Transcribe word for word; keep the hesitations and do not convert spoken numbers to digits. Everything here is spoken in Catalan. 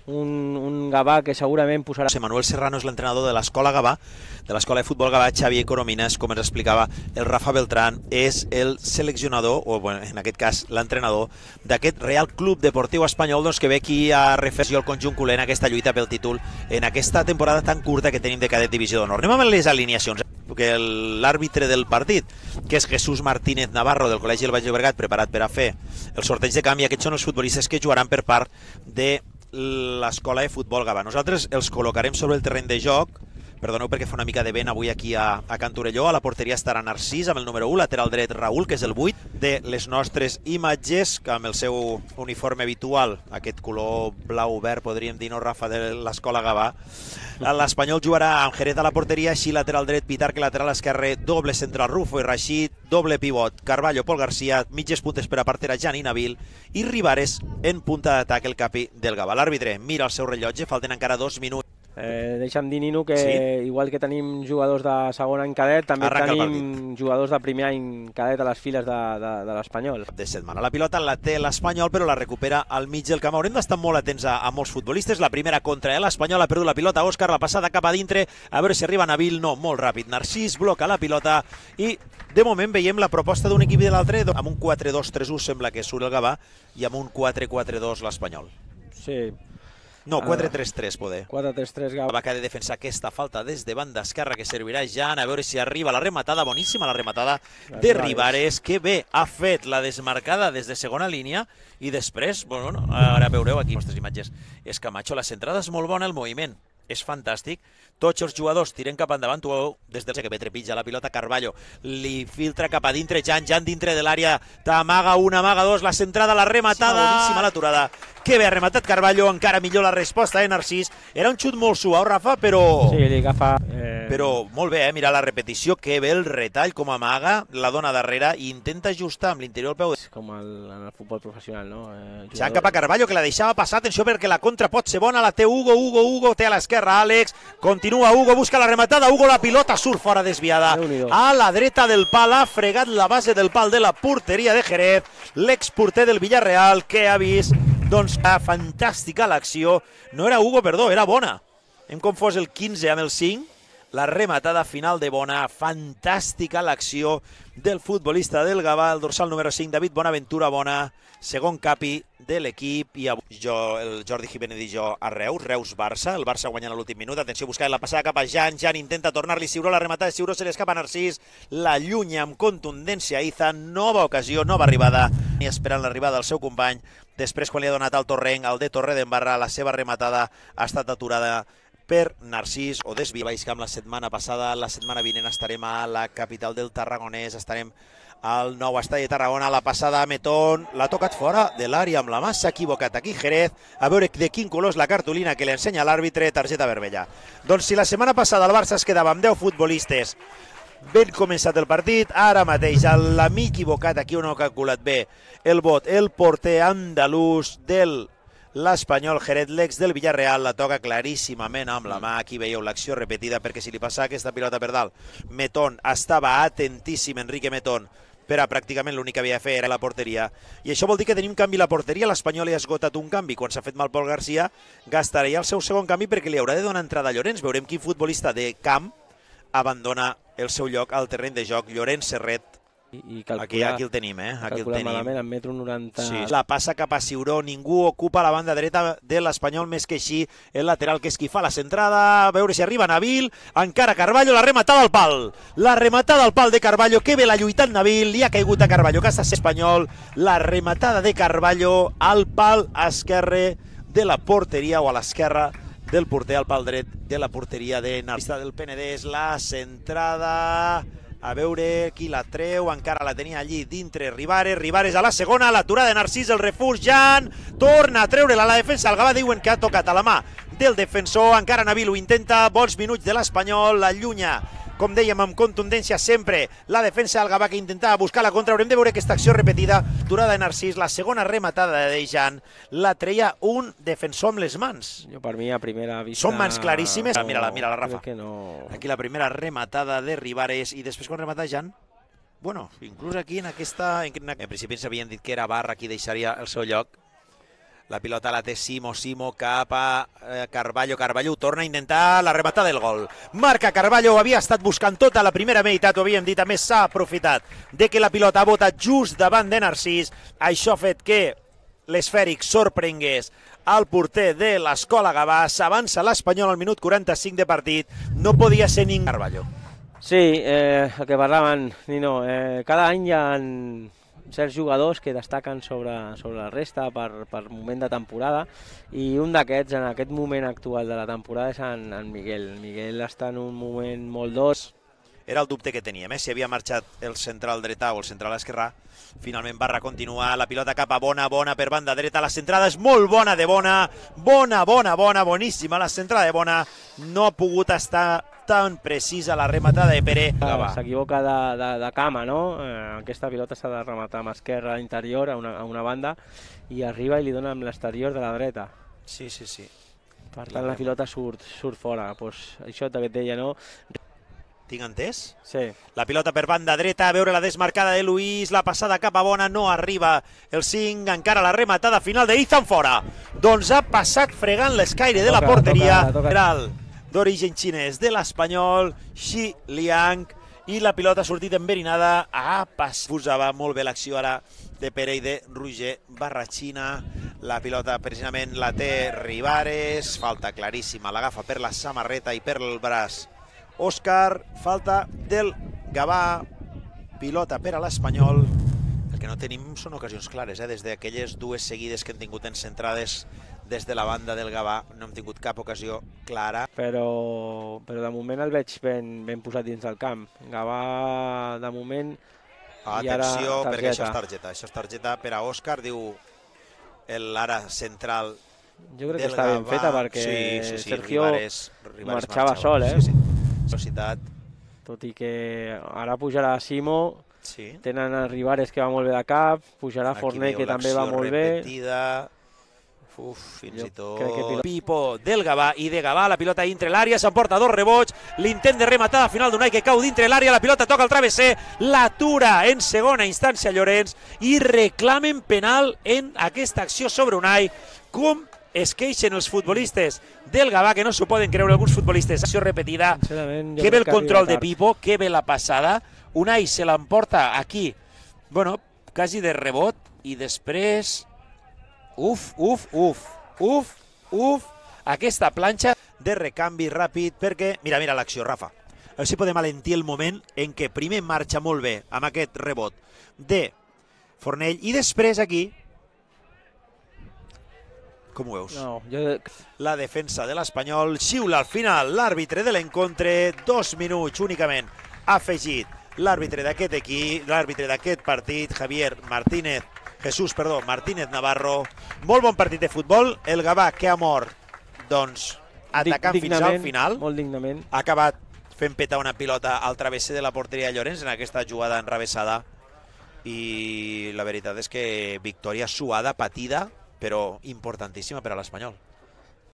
un, un Gavà que segurament posarà... José Manuel Serrano és l'entrenador de l'escola Gavà, de l'escola de futbol Gavà. Xavier Coromines, com ens explicava el Rafa Beltrán, és el seleccionador, o bueno, en aquest cas l'entrenador, d'aquest Real Club Deportiu Espanyol, doncs, que ve aquí a refrescar el conjunt culer en aquesta lluita pel títol en aquesta temporada tan curta que tenim de cadet divisió d'honor. Anem amb les alineacions, perquè l'àrbitre del partit, que és Jesús Martínez Navarro del Col·legi del Baix Llobregat, preparat per a fer el sorteig de canvi. Aquests són els futbolistes que jugaran per part de l'escola de futbol Gavà. Nosaltres els col·locarem sobre el terreny de joc. Perdoneu perquè fa una mica de vent avui aquí a, a Can Torelló. A la porteria estarà Narcís amb el número u, lateral dret Raül, que és el vuit de les nostres imatges, que amb el seu uniforme habitual, aquest color blau-verd, podríem dir, no, Rafa, de l'escola Gavà. L'Espanyol jugarà amb Jerez a la porteria, així lateral dret Pitarque, lateral esquerre, doble central Rufo i Rashid, doble pivot Carballo, Pol Garcia, mitges puntes per a partera Jan i Nabil, i Rivares en punta d'atac, el capi del Gavà. L'àrbitre mira el seu rellotge, falten encara dos minuts. Eh, deixa'm dir, Nino, que sí? igual que tenim jugadors de segon any cadet, també Arranca tenim jugadors de primer any cadet a les files de, de, de l'Espanyol. De setmana. La pilota la té l'Espanyol, però la recupera al mig del camp. Haurem d'estar molt atents a, a molts futbolistes. La primera contra l'Espanyol, ha perdut la pilota Òscar, la passada cap a dintre, a veure si arriba Nabil. No, molt ràpid. Narcís bloca la pilota i de moment veiem la proposta d'un equip i de l'altre amb un quatre dos tres u sembla que surt el Gavà i amb un quatre quatre dos l'Espanyol. Sí. No, quatre tres tres poder. quatre tres tres Gavà. Va que ha de defensar aquesta falta des de banda esquerra que servirà Jan, a veure si arriba la rematada, boníssima la rematada de Rivares, que bé ha fet la desmarcada des de segona línia i després, bueno, ara veureu aquí les imatges, és Camacho, la centrada és molt bona, el moviment és fantàstic, tots els jugadors tiren cap endavant, tu des del que ve trepitja la pilota Carballo, li filtra cap a dintre Jan, Jan dintre de l'àrea, t'amaga una, amaga dos, la centrada, la rematada, boníssima l'aturada, que bé ha rematat Carballo, encara millor la resposta de Narcís, era un xut molt suau, Rafa, però... Sí, li agafa... Eh... Però molt bé, eh? Mira la repetició, que bé el retall, com amaga, la dona darrere i intenta ajustar amb l'interior del peu. Com el, en el futbol professional, no? Eh, Jan cap a Carballo, que la deixava passar, atenció perquè la contra pot ser bona, la té Hugo, Hugo, Hugo, té a l'esquerra Àlex, continua Hugo, busca la rematada, Hugo, la pilota surt fora desviada, a la dreta del pal, ha fregat la base del pal de la porteria de Jerez, l'exporter del Villarreal, que ha vist, doncs, fantàstica l'acció, no era Hugo, perdó, era Bona, hem confós el quinze amb el cinc, la rematada final de Bona, fantàstica l'acció del futbolista del Gavà, el dorsal número cinc, David Bonaventura Bona, segon capi de l'equip, i jo, el Jordi Jiménez i jo a Reus, Reus-Barça, el Barça guanyant a l'últim minut, atenció, buscant la passada cap a Jan, Jan intenta tornar-li Ciuró, la rematada de Ciuró se l'escapa a Narcís, la llunya amb contundència Iza, nova ocasió, nova arribada, i esperant l'arribada del seu company, després quan li ha donat al Torrent, al de Torredembarra, la seva rematada ha estat aturada per Narcís o desvia Baix Camp la setmana passada. La setmana vinent estarem a la capital del Tarragonès, estarem al nou estadi de Tarragona, la passada a Metón, l'ha tocat fora de l'àrea amb la mà, s'ha equivocat aquí Jerez, a veure de quin color és la cartolina que li ensenya l'àrbitre, targeta vermella. Doncs si la setmana passada el Barça es quedava amb deu futbolistes, ben començat el partit, ara mateix l'amic equivocat, aquí on ho ha calculat bé el vot, el porter andalús del l'Espanyol Jerez, l'ex del Villarreal, la toca claríssimament amb la mà. Aquí veieu l'acció repetida, perquè si li passa aquesta pilota per dalt, Metón estava atentíssim, Enrique Metón, per a pràcticament l'únic que havia de fer era la porteria. I això vol dir que tenim canvi a la porteria. L'Espanyol hi ha esgotat un canvi. Quan s'ha fet mal Pol Garcia, gastarà el seu segon canvi perquè li haurà de donar entrada a Llorenç. Veurem quin futbolista de camp abandona el seu lloc al terreny de joc. Llorenç Serret. I calcula, aquí, aquí el tenim, eh? Aquí el tenim. Malament, en metro noranta... Sí, la passa cap a Ciuró, ningú ocupa la banda dreta de l'Espanyol més que així el lateral, que és qui fa la centrada, a veure si arriba Nabil, encara Carballo, la rematada al pal, la rematada al pal de Carballo, que bé l'ha lluitat Nabil, li ha caigut a Carballo, que està Espanyol, la rematada de Carballo al pal esquerre de la porteria, o a l'esquerra del porter, al pal dret de la porteria de Narcís del Penedès, la centrada... A veure qui la treu, encara la tenia allí dintre Rivares, Rivares a la segona, l'aturada de Narcís, el refús, Jan, torna a treure-la a la defensa, el Gavà diuen que ha tocat a la mà del defensor, encara Nabil ho intenta, bons minuts de l'Espanyol, la llunya, com dèiem, amb contundència sempre, la defensa del Gavà que intentava buscar la contra, haurem de veure aquesta acció repetida, aturada de Narcís, la segona rematada de Jan, la treia un defensor amb les mans. Jo per mi a primera vista... Són mans claríssimes, no, mira-la, mira-la, Rafa. No... Aquí la primera rematada de Rivares i després quan remata Jan, bueno, inclús aquí en aquesta... En, en principi ens havien dit que era Barra qui deixaria el seu lloc. La pilota la té Simo, Simo cap a eh, Carballo, Carballo torna a intentar la rematada del gol. Marca Carballo, havia estat buscant tota la primera meitat, ho havíem dit, a més s'ha aprofitat de que la pilota ha botat just davant de Narcís. Això ha fet que l'esfèric sorprengués al porter de l'Escola Gavà. S'avança l'Espanyol al minut quaranta-cinc de partit, no podia ser ningú. Carballo. Sí, eh, el que parlaven, Nino, eh, cada any hi ha certs jugadors que destaquen sobre, sobre la resta per, per moment de temporada, i un d'aquests, en aquest moment actual de la temporada, és en, en Miguel. Miguel està en un moment molt dos. Era el dubte que teníem, eh? Si havia marxat el central dretà o el central esquerrà. Finalment Barra continua, la pilota cap a Bona, Bona per banda dreta, la centrada és molt bona de Bona, bona, bona, bona, boníssima la centrada de Bona, no ha pogut estar tan precisa la rematada de Pere. S'equivoca de, de, de cama, no? Eh, aquesta pilota s'ha de rematar amb esquerra a l'interior, a, una, a una banda, i arriba i li dona amb l'exterior de la dreta. Sí, sí, sí. Per tant, la pilota surt, surt fora. Pues, això que et deia, no? Tinc entès? Sí. La pilota per banda dreta, a veure la desmarcada de Luis, la passada cap a Bona, no arriba el cinc, encara la rematada final de Izan fora. Doncs ha passat fregant l'escaire de la porteria. D'origen xinès de l'Espanyol, Xi Liang, i la pilota ha sortit enverinada. Ah, posava molt bé l'acció ara de Pere i de Roger Barrachina. La pilota precisament la té Rivares, falta claríssima, l'agafa per la samarreta i per el braç Òscar, falta del Gavà, pilota per a l'Espanyol. El que no tenim són ocasions clares, eh? Des d'aquelles dues seguides que hem tingut en centrades des de la banda del Gavà, no hem tingut cap ocasió clara. Però, però de moment el veig ben, ben posat dins del camp. Gavà, de moment... Atenció, perquè això és targeta. Això és targeta per a Òscar, diu l'ara central. Jo crec que està ben feta perquè sí, sí, sí, Sergio Rivares, Rivares marxava, marxava sol, eh? Sí, sí. Velocitat. Tot i que ara pujarà Simo, sí. Tenen a Rivares que va molt bé de cap, pujarà Forner que també va molt repetida. bé. Uf, fins jo i tot. Que... Pipo del Gavà, i de Gavà la pilota dintre l'àrea, s'emporta dos rebots, l'intent de rematada final d'Unai que cau dintre l'àrea, la pilota toca el travesser, l'atura en segona instància Llorenç i reclamen penal en aquesta acció sobre Unai. Com es queixen els futbolistes del Gavà, que no s'ho poden creure alguns futbolistes. Acció repetida, que ve el control de Pipo, que ve la passada, Unai se l'emporta aquí, bueno, quasi de rebot, i després, uf, uf, uf, uf, uf, aquesta planxa de recanvi ràpid, perquè, mira, mira l'acció, Rafa, a veure si podem alentir el moment en què primer marxa molt bé amb aquest rebot de Fornell, i després aquí, com ho veus? No, jo... La defensa de l'Espanyol xiula al final l'àrbitre de l'encontre, dos minuts únicament ha afegit l'àrbitre d'aquest equip, l'àrbitre d'aquest partit, Javier Martínez, Jesús, perdó, Martínez Navarro. Molt bon partit de futbol, el Gavà que ha mort, doncs, atacant fins al final. Molt dignament. Ha acabat fent petar una pilota al travesser de la porteria de Llorenç en aquesta jugada enrevessada, i la veritat és que victòria suada, patida, però importantíssima per a l'Espanyol.